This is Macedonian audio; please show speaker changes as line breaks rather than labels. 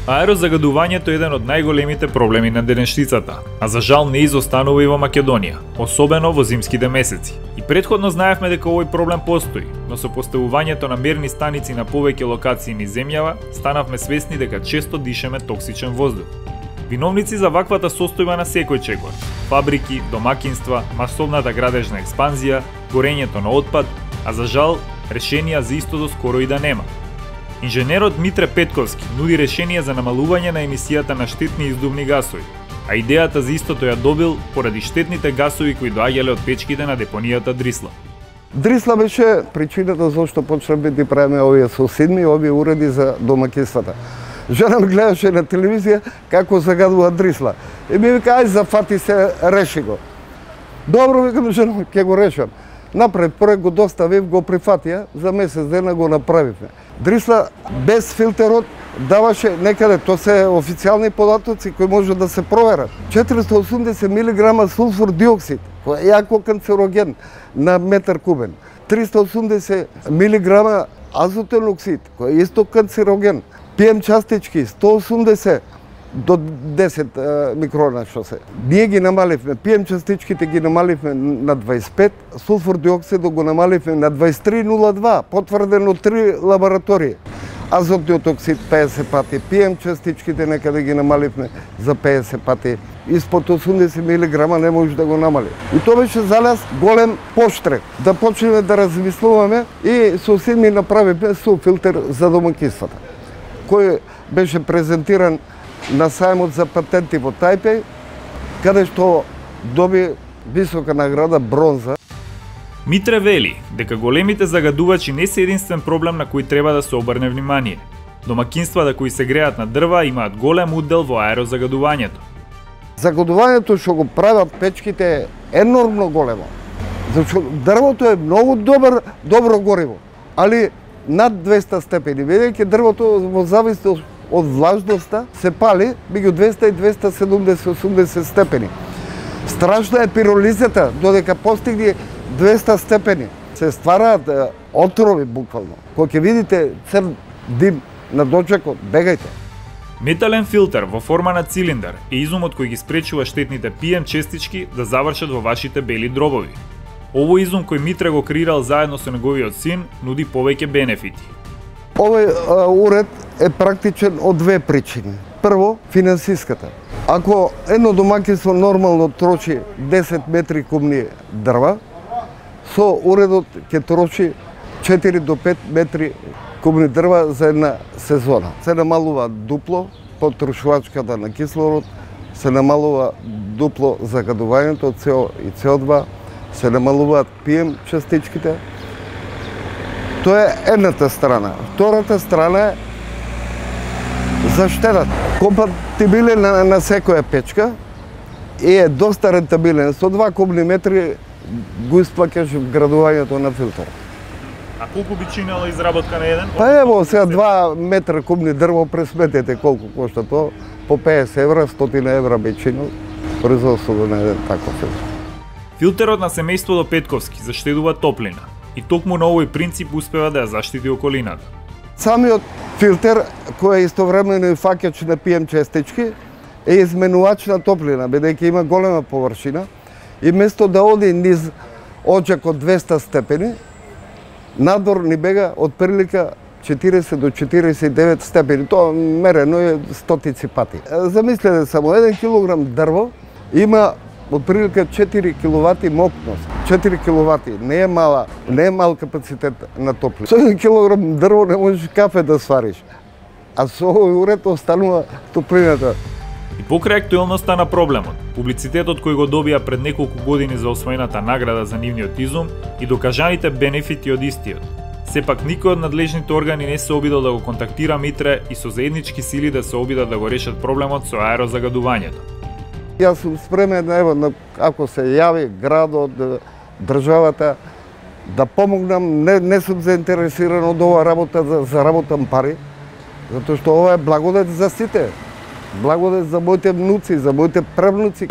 Аерозагадувањето е еден од најголемите проблеми на денешницата, а за жал не изостанува и во Македонија, особено во зимските месеци. И претходно знаевме дека овој проблем постои, но со поставувањето на мерни станици на повеќе локации низ земјава, станавме свесни дека често дишеме токсичен воздух. Виновници за ваквата состојба на секој чекор: фабрики, домакинства, масовната градежна експанзија, горењето на отпад, а за жал решенија за истото скоро и да нема. Инженерот Митре Петковски нуди решение за намалување на емисијата на штетни издувни гасови, а идејата за истото ја добил поради штетните гасови кои доаѓале од печките на депонијата Дрисла.
Дрисла беше причината зашто почнавме да правиме овие соседни, овие уреди за домакинствата. Жена ми гледаше на телевизија како загадува Дрисла. И ми вика, ај зафати се, реши го. Добро, викам, жена, ќе го решам. Напред проект го доставив, го прифатија, за месец дена го направивме. Дрисла без филтерот даваше некаде, то се официјални податоци кои може да се проверат. 480 мг сулфур диоксид, кој е јако канцероген на метар кубен. 380 мг азотен оксид, кој е исто канцероген. PM частички 180 до 10 микрона што се. Ние ги намаливме, PM частичките ги намаливме на 25, сулфур диоксидот го намаливме на 23,02, потврдено 3 лаборатории. Азотниот оксид 50 пати, PM частичките некаде ги намаливме за 50 пати. Испод 80 мг не може да го намали. И тоа беше за нас голем поштрек, да почнеме да размислуваме и соседни направивме филтер за домакинствата, кој беше презентиран на сајмот за патенти во Тајпеј, каде што доби висока награда бронза.
Митре вели дека големите загадувачи не се единствен проблем на кој треба да се обрне внимание. Домакинствата кои се греат на дрва имаат голем удел во аерозагадувањето.
Загадувањето што го прават печките е енормно големо. Зашто дрвото е многу добро гориво, али над 200 степени, бидејќи дрвото во зависност од влажноста се пали меѓу 200 и 270-80 степени. Страшна е пиролизата, додека постигне 200 степени. Се ствараат отрови буквално. Кога ќе видите црн дим на дочекот, бегајте.
Метален филтер во форма на цилиндар е изумот кој ги спречува штетните PM честички да завршат во вашите бели дробови. Овој изум кој Митре го креирал заедно со неговиот син нуди повеќе бенефити.
Овој уред е практичен од две причини. Прво, финансиската. Ако едно домакинство нормално троши 10 метри кубни дрва, со уредот ќе троши 4 до 5 метри кубни дрва за една сезона. Се намалува дупло потрошувачката на кислород, се намалува дупло загадувањето од CO и CO2, се намалуваат PM частичките. Тоа е едната страна. Втората страна е заштедат. Компатибилен на секоја печка и е доста рентабилен. Со 2 кубни метри го исплаќаш вградувањето на филтер.
А колку би чинела изработка на еден?
Па ево, сега 2 метра кубни дрво, пресметете колку кошта тоа. По 50 евра, 100 евра би чинил производството на еден таков филтер.
Филтерот на семејството Петковски заштедува топлина и токму на овој принцип успева да ја заштити околината.
Самиот филтер, кој е истовремено и фаќач на PM честички, е изменувач на топлина, бидејќи има голема површина и место да оди низ очек од 200 степени, надвор ни бега од прилика 40 до 49 степени. Тоа мерено е стотици пати. Замислете само, 1 килограм дрво има од прилика 4 киловати мокност. 4 киловати не е мал капацитет на топлина. Со 1 килограм дрво не можеш кафе да свариш. А со овој уред останува топлината.
И покрај актуелноста на проблемот, публицитетот кој го добија пред неколку години за освоената награда за нивниот изум и докажаните бенефити од истиот, сепак никој од надлежните органи не се обидел да го контактира Митре и со заеднички сили да се обидат да го решат проблемот со аерозагадувањето.
Јас сум спремен, ево, ако се јави градот, државата, да помогнам, не сум заинтересиран од оваа работа да заработам пари, затоа што ова е благодет за сите. Благодет за моите внуци, за моите правнуци.